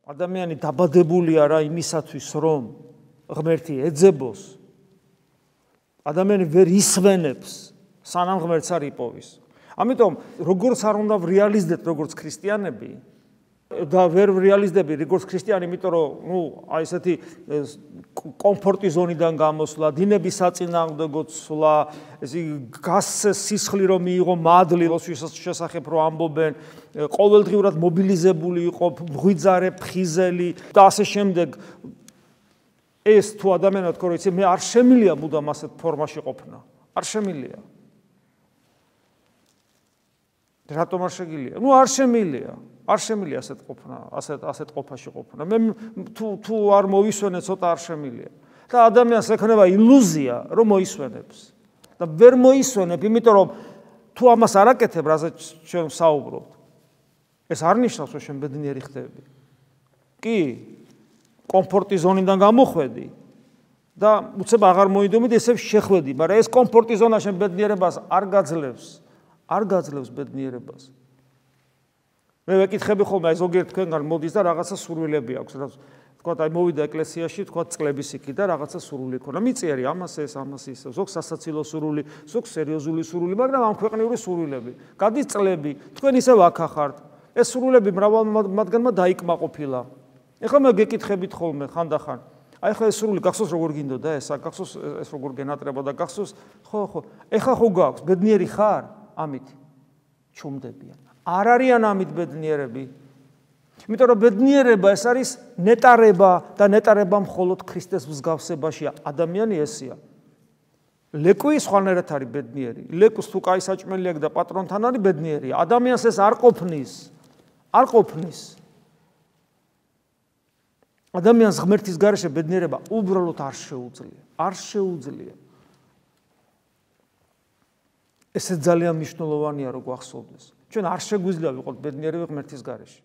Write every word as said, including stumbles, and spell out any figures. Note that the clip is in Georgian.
ადამიანი დაბადებულია რა იმისათვის, რომ ღმერთი ეძებოს. ადამიანი ვერ ისვენებს, სანამ ღმერთს არ იპოვის. ამიტომ როგორც არ უნდა რეალიზდეთ როგორც ქრისტიანები და ვერ რეალიზდები როგორც ქრისტიანი, იმიტომ რომ ნუ აი ესეთი კომფორტის ზონიდან გამოსვლა, დინების საწინააღმდეგოდ სვლა, ესე გასცეს სისხლი რომ მიიღო მადლი, როდის შესახებ რომ ამბობენ, ყოველდღიურად მობილიზებული იყო, მღვიძარე, ფხიზელი და ასე შემდეგ. ეს თუ ადამიანად თქო, რომ იცი მე არ შემილია მუდამ ასეთ ფორმაში ყოფნა. არ შემილია. რატომ არ შეგილია? ნუ არ შემილია. არ შემილია ასეთ ყოფნა, ასეთ ასეთ ყოფაში ყოფნა. მე თუ თუ არ მოვისვენე, ცოტა არ შემილია. და ადამიანს ექნება ილუზია, რომ მოისვენებს. და ვერ მოისვენებ, იმიტომ რომ თუ ამას არ აკეთებ, რაზეც ჩვენ ვსაუბრობთ, ეს არ ნიშნავს, რომ შენ ბედნიერი ხდები. კი, კომფორტის ზონიდან გამოხვედი და უცებ აღარ მოიდომდი, ესე შეხვედი, მაგრამ ეს კომფორტის ზონა შენ ბედნიერებას არ გაძლევს. არ გაძლევს ბედნიერებას. მე ვეკითხები ხოლმე, აი ზოგიერთ თქვენგან მოდის და რაღაცა სურვილები აქვს, რა თქვათ, აი მოვიდა ეკლესიაში, თქვათ, წლების იქით და რაღაცა სურვილი ქონა. მიწიერი ამას ეს, ამას ის, ზოგ სასაცილო სურვილი, ზოგ სერიოზული სურვილი, მაგრამ ამ ქვეყნიური სურვილები. გადის წლები, თქვენ ისევ აქ ახართ. ეს სურვილები მრავალ მათგანმა დაიკმაყოფილა. ეხლა მე გეკითხებით ხოლმე ხანდახან. აი ხა ეს სურვილი გახსოვს როგორ გინდოდა ეს, გახსოვს ეს როგორ გენატრებოდა, გახსოვს, ხო, ხო. ეხლა ხო გაქვს, ბედნიერი ხარ? ამით ჩუმდებიან. არ არიან ამით ბედნიერები. იმიტომ რომ ბედნიერება ეს არის ნეტარება და ნეტარება მხოლოდ ქრისტეს მსგავსებაშია. ადამიანი ესია. ლეკვი სხვანაირად არის ბედნიერი. ლეკვს თუ კაი საჭმელი აქვს და პატრონთან არის ბედნიერია. ადამიანს ეს არ ყოფნის. არ ყოფნის. ადამიანს ღმერთის გარეშე ბედნიერება უბრალოდ არ შეუძლია. არ შეუძლია. ესე ძალიან მნიშვნელოვანია, რომ გვახსოვდეს. ჩვენ არ შეგვიძლია ვიყოთ ბედნიერები ღმერთის გარეშე.